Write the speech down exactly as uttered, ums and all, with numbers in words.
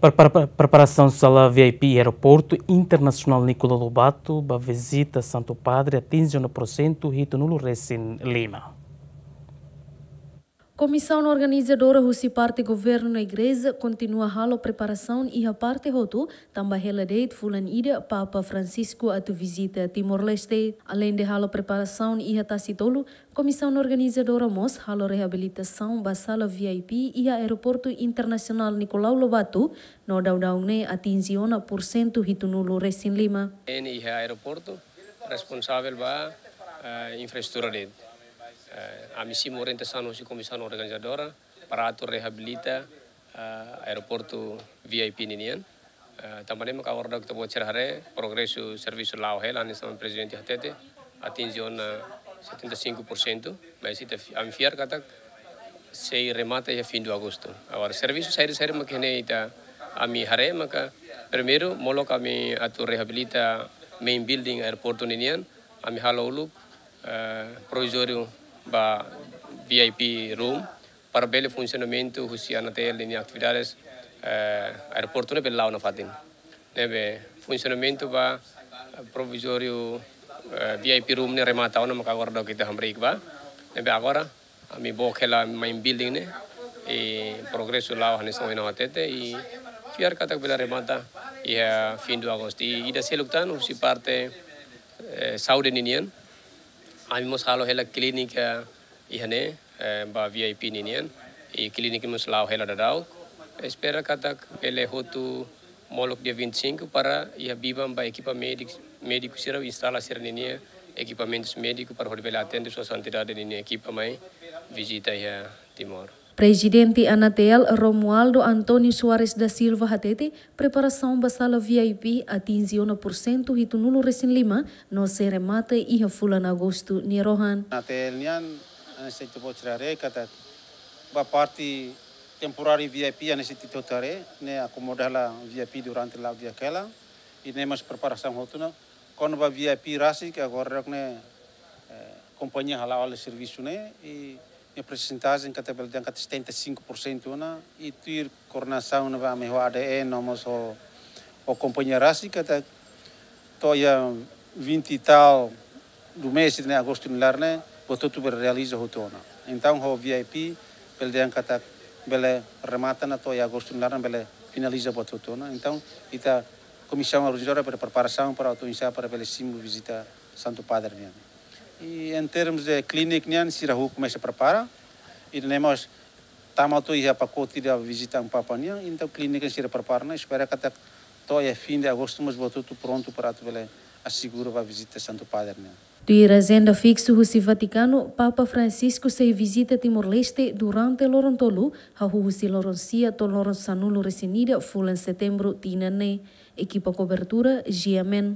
Prepara-, preparasaun sala V I P Aeroportu Internasionál Nicolau Lobato ba vizita Santu Padre atinje ona porsentu hitunulu resin lima. Komisaun organizadora husi parte governu no igreja kontinua halo preparasaun iha parte hotu, tanba hela de'it fulan ida Papa Francisco atu vizita Timor-Leste. Aleinde halo preparasaun iha Tasi Tolu, komisaun organizadora mós halo reabilitasaun ba sala V I P iha Aeroportu Internasionál Nicolau Lobato, no daudaun ne'e atinje ona porsentu hitunulu resin lima. Nia iha aeroportu responsavel ba, eh, infraestrutura de'it. Eh, ami simu orientasaun husi komisaun organizadora para atu reabilita, eh, aeroportu V I P ninian. Eh, tanba ne'e maka agora daudaun ita-boot sira haree, progresu servisu la'o hela, hanesan prezidente hatete, atinje ona setenta e cinco por cento, mas ita fi-, ami fiar katak sei remata iha fim do agosto. Agora, servisu saida-saida mak ne'e ita, ami haree maka, primeiru, molok ami atu reabilita main building aeroportu ninian, ami halo uluk, eh, provizóriu ba V I P room, para bele funsionamentu husi ANATL ninia atividades, eh, aeroportu ne'e bele la'o nafatin. Ne'ebé funsionamentu ba, eh, provizóriu, eh, V I P room ne'e remata ona maka agora daudaun ita hamriik ba. Ne'ebé agora ami book hela main building ne'e, i progresu la'o hanesan ohin ha'u hatete, i fiar katak bele remata iha fim do agosto. I ida seluk tan husi parte, eh, saúde ninian, ami mós halo hela klínika iha ne'e, eh, ba V I P ninian, i klínika mós la'o hela daudaun. Espera katak bele hotu molok dia vinte e cinco para iha biban ba ekipa médik-, médiku sira instala sira ninia ekipamentus médiku para hodi bele atende Sua Santidade ninia ekipa mai vizita iha Timor. Prezidente ANATL Romualdo António Soares da Silva hatete, preparasaun ba sala V I P atinje ona porsentu hitunulu resin lima, no sei remata iha fulan agostu nia rohan. ANATL nian, hanesan ita-boot sira haree katak ba parte temporáriu V I P, hanesan ita-boot haree, ne'e akomoda hela V I P durante la'o di'ak hela, i ne'e mós preparasaun hotu ona. Kona-ba V I P rasik, agora daudaun ne'e, eh, kompañia hala'o hela servisu ne'e, i nia persentajen katak bele dehan katak setenta e cinco por cento ona, i tuir koordenasaun ne'ebé ami ho ADN no mós ho, ho kompañia rasik katak to'o iha vinte e tal do mês de agosto nia laran ne'e, buat hotu bele realiza hotu ona. Entaun ho V I P bele dehan katak bele remata ona to'o iha agosto nia laran bele finaliza buat hotu ona. Entaun ita komisaun organizadora bele preparasaun para atu inisiál para bele simu vizita Santu Padre nian. I em termos de klínika nian, sira hotu komesa prepara. I ne'e mós tama hotu iha pakote ida vizita Amu Papa nian, entaun klínika sira prepara ona, espera katak to'o iha fim de agosto mós buat hotu prontu para atu bele asegura ba vizita Santu Padre nian. Tuir ajenda fiksu husi Vatikanu, Papa Francisco sei vizita Timor-Leste durante loron tolu, hahú husi loron sia to'o loron sanulu resin ida fulan setembru tinan ne'e. Ekipa kobertura, G M N.